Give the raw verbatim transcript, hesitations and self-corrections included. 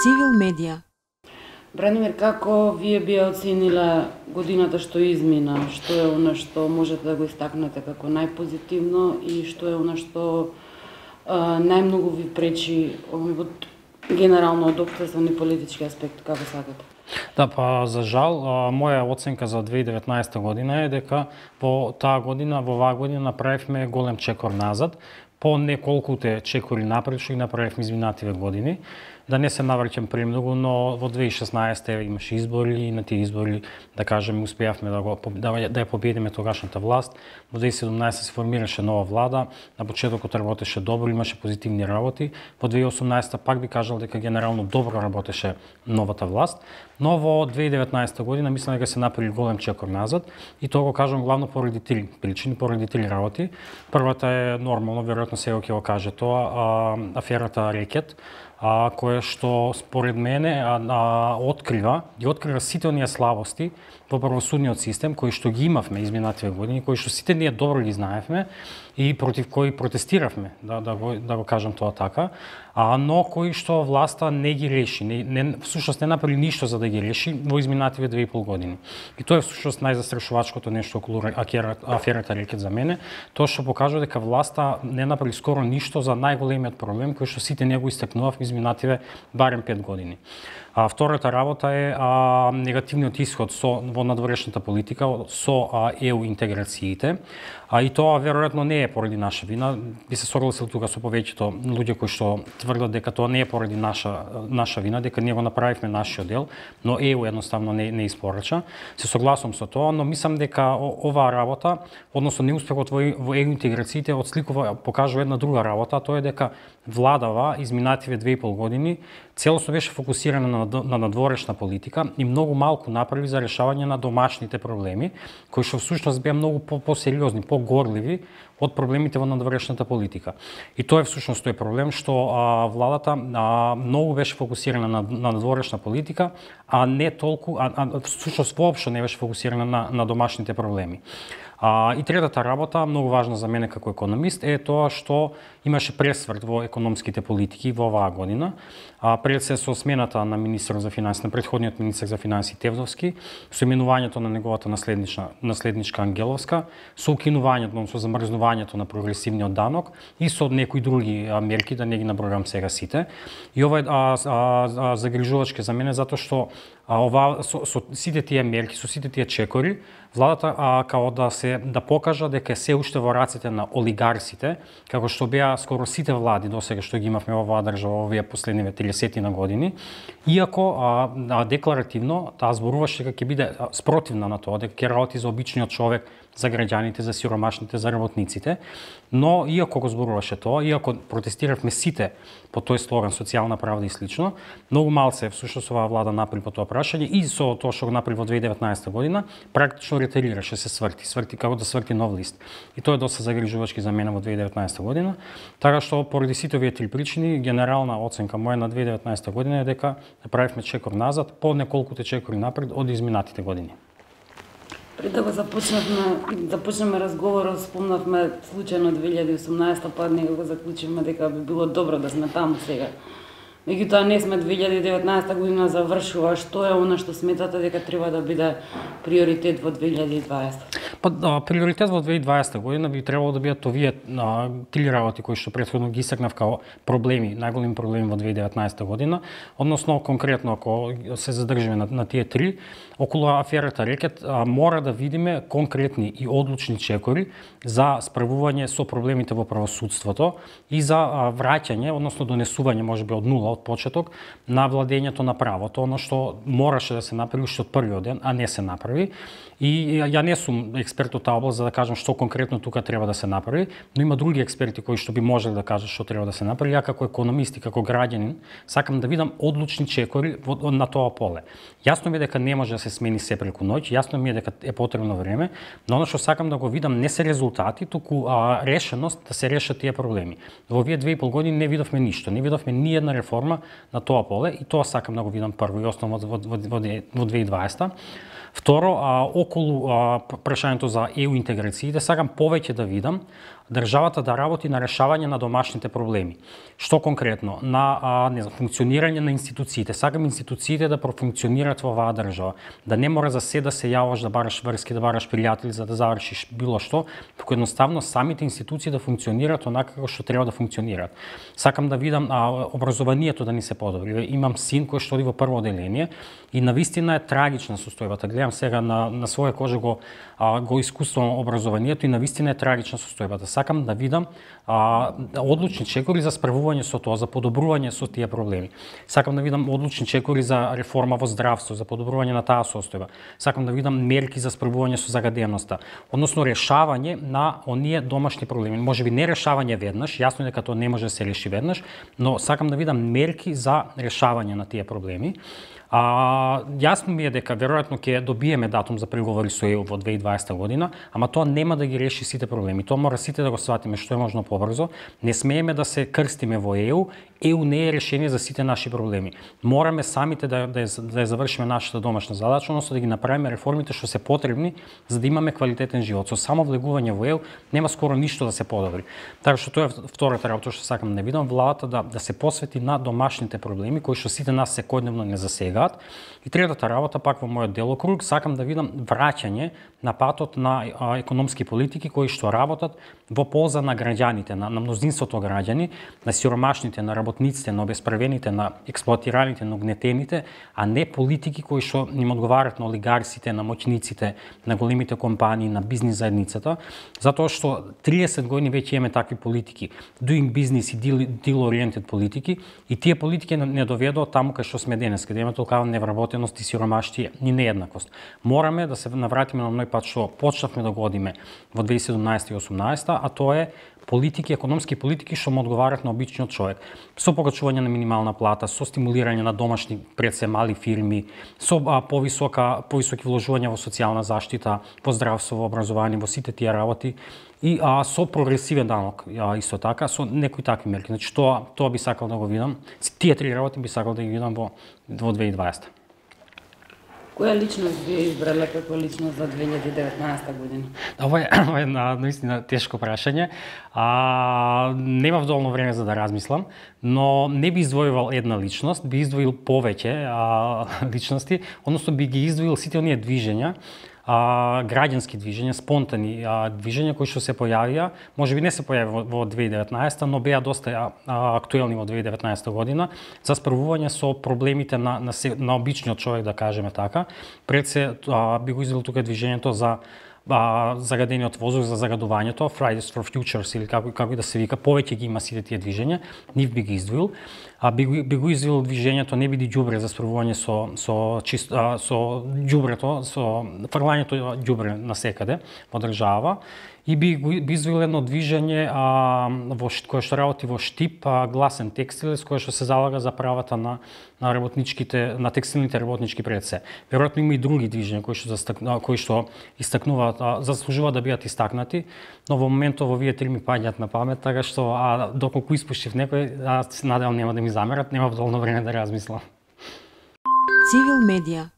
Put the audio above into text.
Цивил медија. Бранимир, како вие би оценила годината што измина? Што е она што можете да го истакнете како најпозитивно и што е она што а, најмногу ви пречи од генерално од општествен и политички аспект, како сакате? Да, па за жал, моја оценка за две илјади и деветнаесета година е дека во таа година, во оваа година направивме голем чекор назад, по неколкуте чекори напред што ги направивме изминативе години. Да не се навраќам премногу, но во две илјади и шеснаесета имаше избори и на тие избори, да кажеме, успеавме да го да, да ја победиме тогашната власт. Во две илјади и седумнаесета се формираше нова влада, на почетокот работеше добро, имаше позитивни работи. Во две илјади и осумнаесета пак би кажал дека генерално добро работеше новата власт, но во две илјади и деветнаесета година мислам дека се направи голем чекор назад и тоа го кажам главно поради три причини, поради три работи. Првата е нормално, веројатно сега ќе го каже тоа, а, аферата Рекет, а, кое што според мене а, а, открива и открива сите оние слабости во правосудниот систем кои што ги имавме изминативе години, кои што сите ние добро ги знаевме и против кои протестиравме, да, да, го, да го кажам тоа така, а, но кои што власта не ги реши, не, не, всушност не направи ништо за да ги реши во изминативе две и пол години. И тоа е всушност најзастрашувачкото нешто околу аферата Рекет за мене, тоа што покажува дека власта не направи скоро ништо за најголемиот проблем кој што сите ние го истакнувавме изминативе барем пет години. А втората работа е а, негативниот исход со во надворешната политика со а, Е У интеграциите. А и тоа веројатно не е поради наша вина. Би се согласил тука со повеќето луѓе кои што тврдат дека тоа не е поради наша наша вина, дека ние го направивме нашиот дел, но Е У едноставно не не испорача. Се согласувам со тоа, но мислам дека оваа работа, односно неуспехот во, во Е У интеграциите отсликува, покажува една друга работа, тоа е дека владава изминативе две и пол години целосно беше фокусирана на, на надворешна политика и многу малку направи за решавање на домашните проблеми, кои што всушност беа многу по-сериозни, по-горливи од проблемите во надворешната политика. И тоа е всушност тој проблем што а, владата а, многу беше фокусирана на, на надворешна политика, а не толку, а, а всушност воопшто не беше фокусирана на, на домашните проблеми. А, и третата работа, многу важна за мене како економист, е тоа што имаше пресврт во економските политики во оваа година. А, пред се со смената на министерот за финансии, на претходниот министер за финансии Тевдовски, со именувањето на неговата наследничка, наследничка Ангеловска, со укинувањето, со замрзнувањето на прогресивниот данок и со некои други а, мерки, да не ги набројам сега сите. И ова е а, а, а, загрижувачки за мене, затоа што а, ова, со, со сите тие мерки, со сите тие чекори, владата а, као да се да покажа дека се уште во рацете на олигарсите, како што беа скоро сите влади досега што ги имавме во оваа држава овие последниве триесет на години, иако а, а, декларативно таа зборуваше дека ќе биде спротивна на тоа, дека ќе работи за обичниот човек, за граѓаните, за сиромашните, за работниците, но иако го зборуваше тоа, иако протестиравме сите по тој слоган социјална правда и слично, многу мал се всушност оваа влада направи по тоа прашање и со тоа што го направи во две илјади и деветнаесета година, практично ретирираше, се сврти, сврти како да сврти нов лист. И тоа е доста загрижувачки за мене во две илјади и деветнаесета година, така што поради сите овие три причини, генерална оценка моја на две илјади и деветнаесета година е дека направивме чекор назад по неколкуте чекори напред од изминатите години. Пред да го започнавме, започнеме разговорот, спомнавме случајно две илјади и осумнаесета, па некако заклучивме дека би било добро да сме таму сега. Меѓутоа не сме, две илјади и деветнаесета година завршува, што е она што сметате дека треба да биде приоритет во две илјади и дваесета? Па да, приоритет во две илјади и дваесета година би требало да бидат овие а, три работи кои што претходно ги истакнав као проблеми, најголеми проблеми во две илјади и деветнаесета година, односно конкретно ако се задржиме на, на тие три, околу аферата Рекет а, мора да видиме конкретни и одлучни чекори за справување со проблемите во правосудството и за а, враќање, односно донесување можеби од нула од почеток на владењето на правото, оно што мораше да се направи уште од првиот ден, а не се направи. И ја не сум експерт од таа област за да кажам што конкретно тука треба да се направи, но има други експерти кои што би можеле да кажат што треба да се направи. Ја како економист и како граѓанин сакам да видам одлучни чекори на тоа поле. Јасно ми е дека не може да се смени се преку ноќ, јасно ми е дека е потребно време, но оно што сакам да го видам не се резултати, туку а, решеност да се решат тие проблеми. Во овие две и пол години не видовме ништо, не видовме ни една реформа на тоа поле и тоа сакам да го видам прво и основно во, во, во, во две илјади и дваесета. Второ, а, околу а, прашањето за Е У интеграциите, сакам повеќе да видам државата да работи на решавање на домашните проблеми. Што конкретно? На а, не знам, функционирање на институциите. Сакам институциите да профункционираат во оваа држава. Да не мора за се да се јаваш, да бараш врски, да бараш пријатели за да завршиш било што, туку едноставно самите институции да функционираат онака како што треба да функционираат. Сакам да видам а, образованието да ни се подобри. Имам син кој што оди во прво оделение и навистина е трагична состојбата. Гледам сега на на своја кожа го а, го искуствувам образованието и навистина е трагична состојбата. Сакам да видам а, одлучни чекори за справување со тоа, за подобрување со тие проблеми. Сакам да видам одлучни чекори за реформа во здравство, за подобрување на таа состојба. Сакам да видам мерки за справување со загаденоста, односно решавање на оние домашни проблеми. Можеби не решавање веднаш, јасно е дека тоа не може да се реши веднаш, но сакам да видам мерки за решавање на тие проблеми. А, јасно ми е дека веројатно ќе добиеме датум за преговори со ЕУ во две илјади и дваесета година, ама тоа нема да ги реши сите проблеми. Тоа мора сите да го сватиме што е можно побрзо. Не смееме да се крстиме во ЕУ. ЕУ не е решение за сите наши проблеми. Мораме самите да да, да ја завршиме нашата домашна задача, односно да ги направиме реформите што се потребни за да имаме квалитетен живот. Со само влегување во ЕУ нема скоро ништо да се подобри. Така што тоа е втората работа што сакам да видам, владата да да се посвети на домашните проблеми кои што сите нас секојдневно не засегаат. И третата работа, пак во мојот делокруг, сакам да видам враќање на патот на а, економски политики кои што работат во полза на граѓаните, на, на мнозинството граѓани, на сиромашните, на работниците, на обесправените, на експлоатираните, на угнетените, а не политики кои што им одговарат на олигарсите, на моќниците, на големите компании, на бизнис заедницата, затоа што триесет години веќе имаме такви политики, doing business и deal, deal oriented политики, и тие политики не, не доведоа таму кај што сме денес, каде имаме толкава невработеност и сиромаштија и нееднакост. Мораме да се навратиме на оној пат што почнавме да го одиме во две илјади и седумнаесета и осумнаесета, а тоа е политики, економски политики што му одговарат на обичниот човек. Со покачување на минимална плата, со стимулирање на домашни, пред се мали фирми, со а, повисока, повисоки вложувања во социјална заштита, во здравство, во образование, во сите тие работи и а, со прогресивен данок, а, исто така, со некои такви мерки. Значи тоа тоа би сакал да го видам. Тие три работи би сакал да ги видам во во две илјади и дваесета. Која личност би избрала како личност за две илјади и деветнаесета година? Ова е, ова е наистина тешко прашање. А, немав доволно време за да размислам, но не би издвојувал една личност, би издвоил повеќе а, личности, односно би ги издвоил сите оние движења, а, граѓански движења, спонтани а, движења кои што се појавија, можеби не се појави во, во две илјади и деветнаесета, но беа доста а, актуелни во две илјади и деветнаесета година за справување со проблемите на, на, на обичниот човек, да кажеме така. Пред се а, би го издвоил тука движењето за а, загадениот воздух, за загадувањето, Fridays for Futures или како како и да се вика, повеќе ги има сите тие движења, нив би ги издвоил. А би, би го издвоил движењето Не биди ѓубре за справување со со чист, а, со ѓубрето, со фрлањето ѓубре насекаде во држава. И би, би издвоил едно движење а, во, кое што работи во Штип, а, Гласен текстил, с кое што се залага за правата на, на работничките, на текстилните работнички пред се. Веројатно има и други движења кои што, кои што истакнуваат, а, заслужуваат да бидат истакнати, но во моментот во вие три ми паѓаат на памет, така што а, доколку испуштив некој, а се надевам нема да ми замерат, нема доволно време да размислам. Цивил медија